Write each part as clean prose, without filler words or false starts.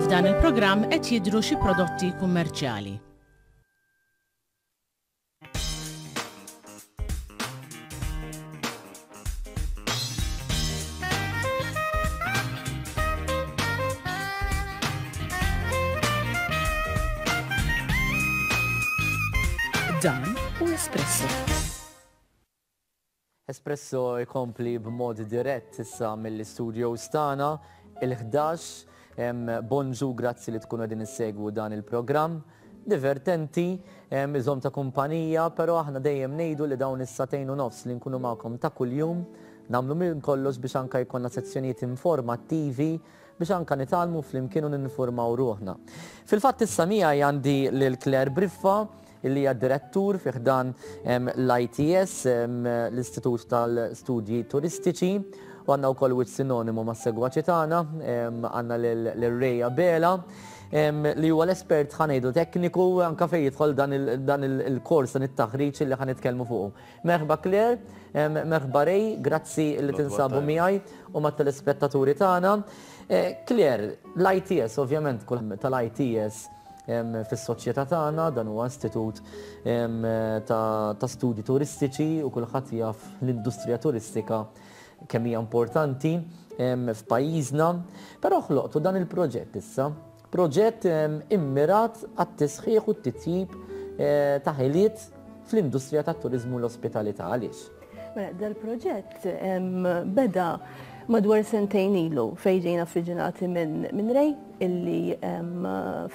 F'dan il-programm qed jidhru xi prodotti kummerċjali. Dan hu Espresso. Espresso jkompli b'mod dirett issa mill-istudios tagħna il-11. Bonġu, grazzi li tkunu qegħdin issegwu dan il-programm. Divertenti, iżomm ta' kumpanija, però aħna dejjem ngħidu li dawn is-sagħtejn u nofs li nkunu magħkom ta' kuljum, nagħmlu minn kollox biex anke jkollna sezzjonijiet informattivi biex anke nitgħallmu flimkien u ninfurmaw ruħna. Fil-fatt issa miegħi għandi lil Claire Briffa, li hija direttur fi ħdan l-ITS, l-Istitut tal-Studji Turistiċi, u għandna wkoll wiċċ sinonimu mas-segwaċi tagħna, għandna lil Ray Abela, li huwa l-espert ħa ngħidu tekniku anke fejn jidħol dan il-kors, dan it-taħriġ li ħa nitkellmu fuqu. Merħba Claire, merħba Ray, grazzi li tinsabu miegħi u mat-telespettaturi tagħna. Claire, l-ITS ovvjament kull tal-ITS fis-soċjetà tagħna, dan huwa istitut ta' studji turistiċi u kulħadd jaf l-industrija turistika kemm hija importanti f'pajjiżna. Però ħloqtu dan il-proġett issa, proġett immirat għat-tisħiħ u t-titjib ta' ħiliet fl-industrija tat-turiżmu u l-ospitalità. Għaliex? Mela, dal-proġett beda madwar sentejn ilu fejn ġejna affiġinati minn Ray illi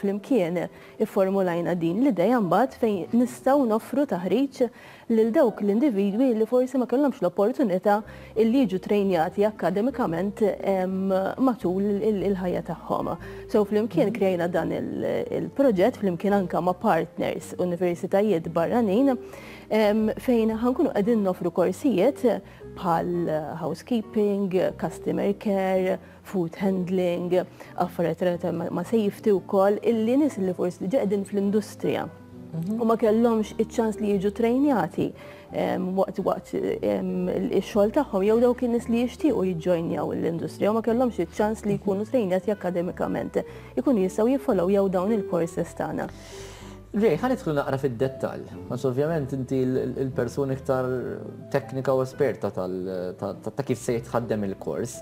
flimkien ifformulajna din l-idea mbagħad fejn nistgħu noffru taħriġ lil dawk l-individwi li forsi ma kellhomx l-opportunità illi jiġu trejnjati akkademikament matul il-ħajja tagħhom. So flimkien krejna dan il-proġett flimkien anka ma' partners universitajiet barranin fejn ħa nkunu qegħdin noffru korsijiet bħal housekeeping, customer care, food handling, affarijiet relatati ma' safety wkoll, illi nies li forsi diġà qegħdin fl-industrija u ma kellhomx iċ-ċans li jiġu trejnjati waqt waqt ix-xogħol tagħhom jew dawk in-nies li jixtiequ jiġġojnjaw l-industrija u ma kellhomx iċ-ċans li jkunu trejnjati akkademikament, ikunu jistgħu jiffollowjaw dawn il-courses tagħna. Ray, ħa nidħlu naqra fid-dettall, għax ovvjament inti l-persuna iktar teknika u esperta ta' kif se jitħaddem il-kors.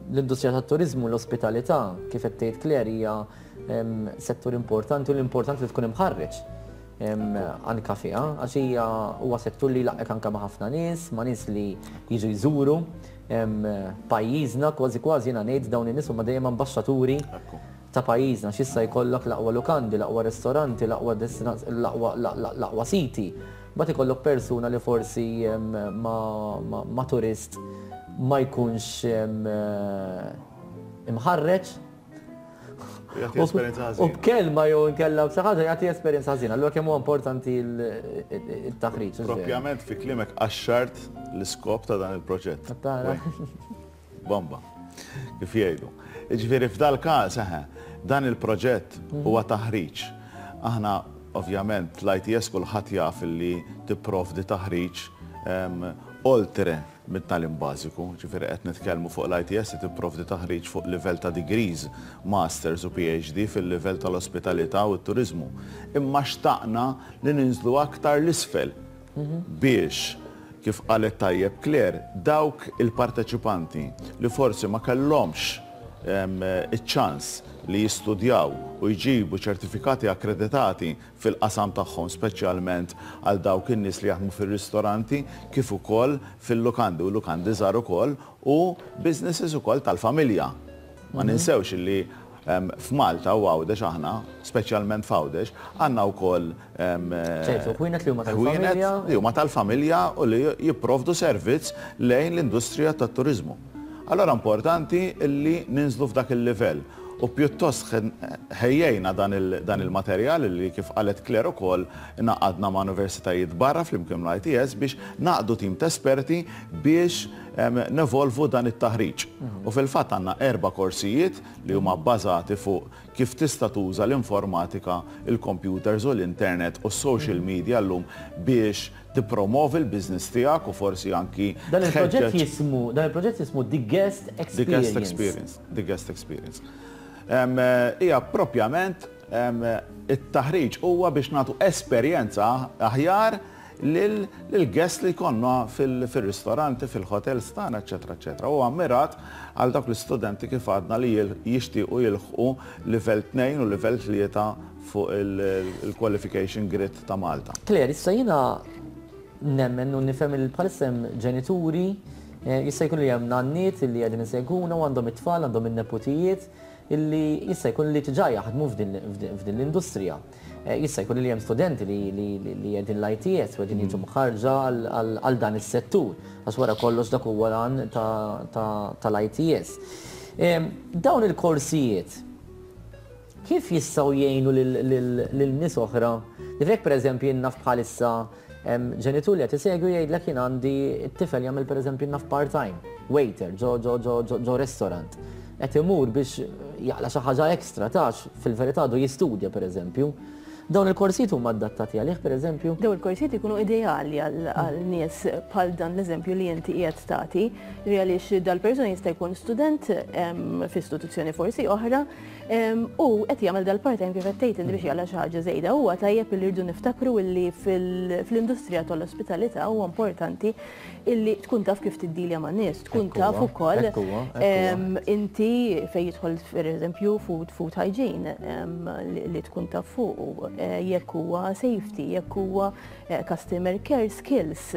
L-industrija tat-turiżmu u l-ospitalità, kif qed tgħid Claire, hija settur importanti u l-importanti li tkun imħarreġ anka fiha, għax hija huwa settur li jlaqqek anka ma' ħafna nies, ma' nies li jiġu jżuru pajjiżna, kważi kważi jiena ngħid dawn in-nies huma dejjem ambaxxaturi ta' pajjiżna għax issa jkollok l-aqwa lukandi, l-aqwa ristoranti, l-aqwa l-aqwa siti. Mbagħad ikollok persuna li forsi ma' turist ma jkunx imħarreġ. Jagħti esperjenza ħażina. U b'kelma jew inkella b'xi ħaġa jagħti esperjenza ħażina. Allura kemm huwa importanti t-taħriġ. Propjament fi kliemek qaxxart l-iskop ta' dan il-proġett. Bomba. Kif jgħidu. Jiġifieri f'dal-każ, eħe, dan il-proġett huwa taħriġ. Aħna ovvjament l-ITS kulħadd jaf li tipprovdi taħriġ oltre mit-tagħlim bażiku, jiġifieri qed nitkellmu fuq l-ITS li tipprovdi taħriġ fuq livell ta' degrees, masters u PhD fil-livell tal-ospitalità u t-turiżmu. Imma xtaqna li ninżlu aktar 'l isfel biex, kif qalet tajjeb Claire, dawk il-parteċipanti li forsi ma kellhomx iċ-ċans li jistudjaw u jġibu ċertifikati akkreditati fil-qasam tagħhom speċjalment għal dawk in-nies li jaħdmu fir-ristoranti kif ukoll fil-lukandi u lukandi żgħar ukoll u businesses ukoll tal-familja. Ma ninsewx li f'Malta u Għawdex aħna, speċjalment f'Għawdex, għandna wkoll ċertu ħwienet li huma tal-familja. Li huma tal-familja u li jipprovdu servizz lejn l-industrija tat-turiżmu. Allura importanti li ninżlu f'dak il-livell u pjuttost ħejjejna dan il-materjal li kif qalet Claire ukoll ngħaqadna ma' universitajiet barra flimkien mal-ITS biex ngħaqqdu tim ta' esperti biex. nevolvu dan it-taħriġ. U fil-fatt għandna erba' korsijiet li huma bbażati fuq kif tista' tuża l-informatika, il-computers u l-internet u s-social media llum biex tippromovi l-business tiegħek u forsi anki Dan il-proġett jismu, dan il-proġett jismu The Guest Experience. The Guest Experience. The Guest Experience. Hija propjament it-taħriġ huwa biex nagħtu esperjenza aħjar lill-guests li jkollna fir-ristoranti, fil-hotels tagħna, eċċetera, eċċetera. Huwa mmirat għal dawk l-istudenti kif għadna li jixtiequ jilħqu livell 2 u livell 3 fuq il-qualification grid ta' Malta. Claire, issa jiena nemmen u nifhem li bħalissa hemm ġenituri, jista' jkun li hemm nanniet li qegħdin isegwuna u għandhom it-tfal, għandhom in-neputijiet illi jista' jkun li diġà jaħdmu f'din l-industrija. Jista' jkun li hemm studenti li qegħdin l-ITS u qegħdin jiġu mħarrġa għal dan is-settur, għax wara kollox dak huwa l-għan tal-ITS. Dawn il-korsijiet kif jistgħu jgħinu lil nies oħra? Jekk pereżempju jien naf bħalissa ġenitur li qed isegwi jgħidlek jien għandi t-tifel jagħmel pereżempju naf part-time, waiter ġo ġo ġo ġo restaurant. Qed imur biex jaqla' xi ħaġa extra tax fil-verità għadu jistudja pereżempju. Dawn il-korsijiet huma adattati għalih pereżempju? Dawn il-korsijiet ikunu ideali għal nies bħal dan l-eżempju li inti qiegħed tagħti, għaliex dal-persuna jista' jkun student f'istituzzjoni forsi oħra u qed jagħmel dal-part-time kif qed tgħid inti biex jaqla' xi ħaġa żejda. Huwa tajjeb li rridu niftakru illi fl-industrija tal-ospitalità huwa importanti illi tkun taf kif tiddilja ma' nies, tkun taf ukoll inti fejn jidħol pereżempju food, food hygiene li tkun taf fuq, jekk huwa safety, jekk huwa customer care skills.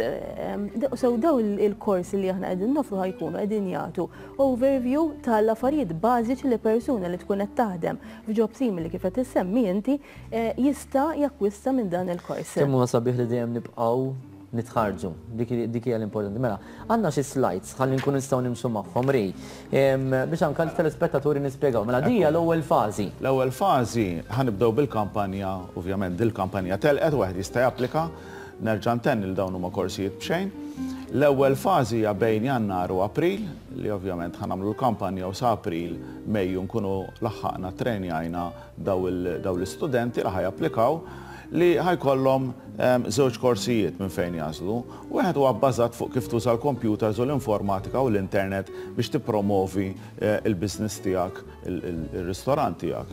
So daw il-korsi li aħna qegħdin nofru ħa jkunu qegħdin jagħtu overview tal-affarijiet bażiċi li persuna li tkun qed taħdem f'job simili kif qed issemmi inti jista' jakkwista minn dan il-kors. Kemm huwa sabiħ li dejjem nibqgħu nitħarġu. Dik hija l-importanti. Mela, għandna xi slides ħalli nkunu nistgħu nimxu magħhom rej. Biex anke l-telespettaturi nispjegaw. Mela di hija l-ewwel fażi. L-ewwel fażi ħa nibdew bil-kampanja, ovvjament dil-kampanja telqet wieħed jista' japplika, nerġa' ntenni li dawn huma korsijiet b'xejn. L-ewwel fażi hija bejn Jannar u April, li ovvjament ħa nagħmlu l-kampanja u sa April, Mejju nkunu laħħaqna trenjajna daw l-istudenti li ħa japplikaw li ħa jkollhom żewġ korsijiet minn fejn jagħżlu. Wieħed huwa bbażat fuq kif tuża l-computers u l-informatika u l-internet biex tippromovi l-business tiegħek, ir-ristorant tiegħek,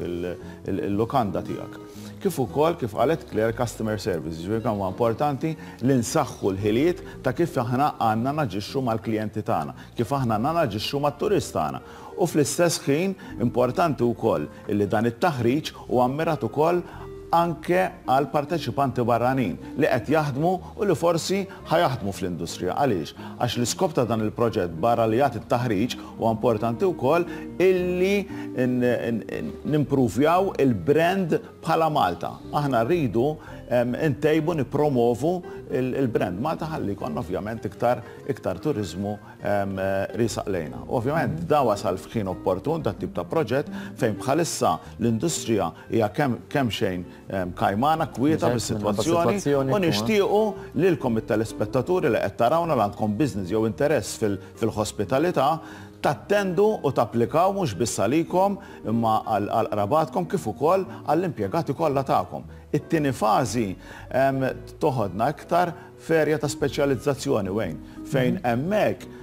il-lukanda tiegħek. Kif ukoll, kif qalet Claire, customer service, jiġifieri kemm huwa importanti li nsaħħu l-ħiliet ta' kif aħna għandna naġixxu mal-klijenti tagħna, kif aħna għandna naġixxu mat-turist tagħna. U fl-istess ħin importanti wkoll illi dan it-taħriġ huwa mmirat ukoll anke għal parteċipanti barranin li qed jaħdmu u li forsi ħa jaħdmu fl-industrija. Għaliex? Għax l-iskop ta' dan il-proġett barra li jagħti t-taħriġ huwa importanti wkoll illi nimpruvjaw il-brand bħala Malta. Aħna rridu ntejbu nippromovu il-brand Malta ħalli jkollna ovvjament iktar iktar turiżmu riesaq lejna. U ovvjament da wasal f'ħin opportun dat tip ta' proġett fejn bħalissa l-industrija hija kemm xejn kajmana, kwieta bis-sitwazzjoni u nixtiequ lilkom it-telespettaturi li qed tarawna li għandkom business jew interess fil-ħospitalità tattendu u tapplikaw mhux biss għalikom imma għal qrabatkom kif ukoll għall-impjegati kollha tagħkom. It-tieni fażi toħodna iktar f'erja ta' speċjalizzazzjoni Wayne, fejn hemmhekk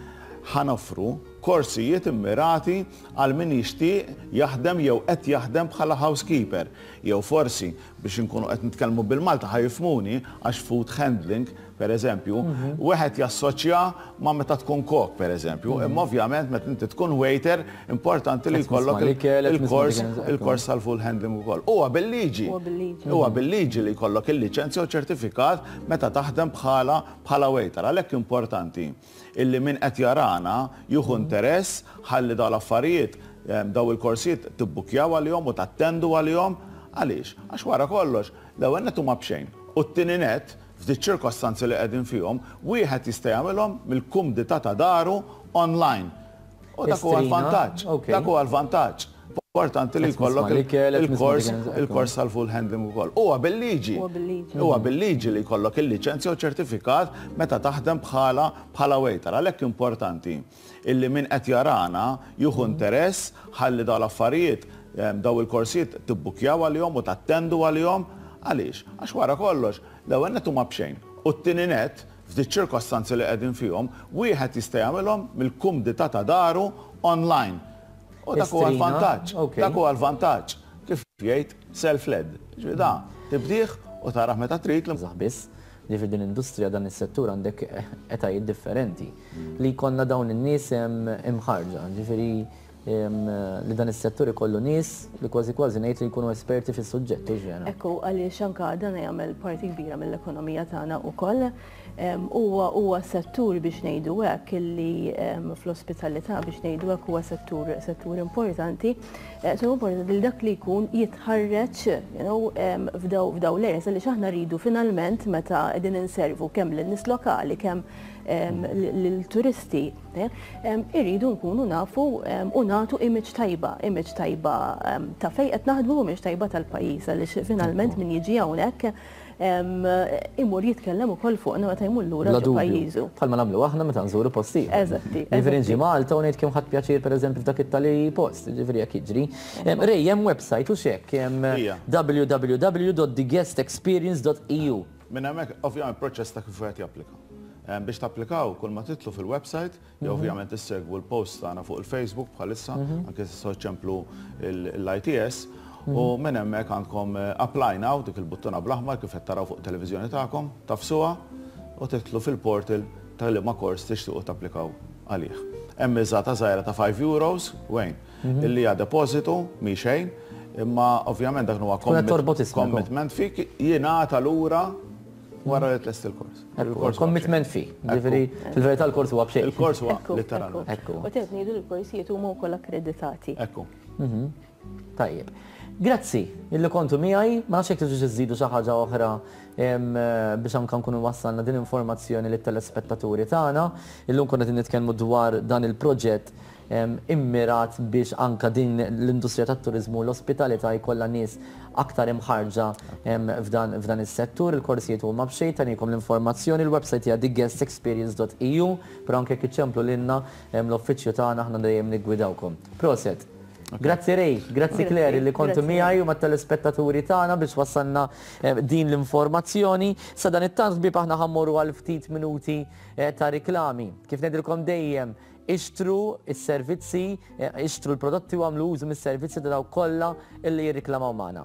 ħa noffru korsijiet immirati għal min jixtieq jaħdem jew qed jaħdem bħala housekeeper, jew forsi biex inkunu qed nitkellmu bil-Malti ħa jifhmuni għax food handling, per eżempju, wieħed jassoċja ma' meta tkun kok, per eżempju, imma ovvjament meta inti tkun waiter importanti li jkollok il-kors il-kors tal-food handling ukoll. Huwa bil-liġi. Huwa bil-liġi li jkollok il-liċenzja u ċertifikat meta taħdem bħala bħala waiter. Għalhekk importanti illi min qed jarana jieħu interess ħalli dawn l-affarijiet, dawn il-korsijiet tibbukjaw għalihom u tattendu għalihom. Għaliex? Għax wara kollox, l-ewwel nett huma b'xejn u t-tieni nett, f'diċ-ċirkostanzi li qegħdin fihom, wieħed jista' jagħmilhom mill-kumdità ta' daru online. U dak huwa l-vantaġġ. Dak huwa l-vantaġġ. Importanti li jkollok il-kors il-kors tal-food handling ukoll. Huwa bil-liġi. Huwa bil-liġi li jkollok il-liċenzja u ċertifikat meta taħdem bħala bħala waiter. Għalhekk importanti illi min qed jarana jieħu interess ħalli dawn l-affarijiet daw il-korsijiet tibbukjaw għalihom u tattendu għalihom. Għaliex? Għax wara kollox, l-ewwel nett huma b'xejn. U t-tieni nett, f'diċ-ċirkostanzi li qegħdin fihom, wieħed jista' jagħmilhom mill-kumdità ta' daru online. U dak huwa l-vantaġġ. Dak huwa l-vantaġġ. Kif jgħid self-led. Ġifieri da tibdih u tarah meta trid. Żgħażagħ biss, ġifieri din l-industrija, dan is-settur għandek etajiet differenti. Li jkollna dawn in-nies imħarrġa, ġifieri li dan is-settur ikollu nies li kważi kważi ngħid li jkunu esperti fis-suġġett, hux vera? Ekku, għaliex anke dan jagħmel parti kbira mill-ekonomija tagħna wkoll. Huwa huwa settur biex ngħidu hekk illi fl-ospitalità biex ngħidu hekk huwa settur settur importanti. So importanti li dak li jkun jitħarreġ you know, f'daw f'daw l-areas għaliex aħna rridu finalment meta qegħdin inservu kemm lin-nies lokali kemm lill-turisti irridu nkunu nafu u nagħtu image tajba, image tajba ta' fejn qed naħdmu u image tajba tal-pajjiż għaliex finalment min jiġi hawnhekk imur jitkellem ukoll fuqna meta jmur lura ġo pajjiżu. Bħalma nagħmlu aħna meta nżuru postijiet. Eżatti. Jiġifieri nġi Malta u ngħid kemm ħadt pjaċir pereżempju f'dak it-tali post, jiġifieri hekk jiġri. Ray, hemm website u x'hekk, hemm www.theguestexperience.eu. Minn hemmhekk ovvjament proċess ta' kif wieħed japplika. Biex tapplikaw kull ma titlu fil-website, jew ovvjament issegwu l-post tagħna fuq il-Facebook bħalissa, anke tistgħu ċemplu l-ITS, u minn hemmhekk għandkom apply now, dik il-buttuna bl-aħmar kif qed taraw fuq televiżjoni tagħkom, tagħfsuha u tidħlu fil-portal ta' liema kors tixtiequ tapplikaw għalih. Hemm miżata żgħira ta' €5, Wayne, illi hija depożitu mhi xejn, imma ovvjament dak huwa commitment fee jingħata lura wara li tlesti l-kors. Il-kors commitment fee. Ġifieri fil-verità l-kors huwa b'xejn. Il-kors huwa letteralment. Ekku. U qed ngħidu l-korsijiet huma wkoll akkreditati. Ekku. Tajjeb. Grazzi illi kontu miegħi, ma nafx jekk tridux iżidu xi ħaġa oħra biex anke nkunu wassalna din informazzjoni lit-telespettaturi tagħna. Illum konna qegħdin nitkellmu dwar dan il-proġett immirat biex anka din l-industrija tat-turiżmu u l-ospitalità jkollha nies aktar imħarrġa f'dan f'dan is-settur. Il-korsijiet huma b'xejn, tagħnikom l-informazzjoni, il-website hija theguestexperience.eu, però anke jekk iċċemplu lilna l-uffiċċju tagħna aħna dejjem niggwidawkom. Proset. Grazzi Ray, grazzi Claire li kontu miegħi u mat-telespettaturi tagħna biex wassalna din l-informazzjoni. Sa dan it-tant ħbieb aħna ħammorru għal ftit minuti ta' riklami. Kif ngħidilkom dejjem, ixtru s-servizzi, ixtru l-prodotti u għamlu użu mis-servizzi ta' dawk kollha illi jirriklamaw magħna.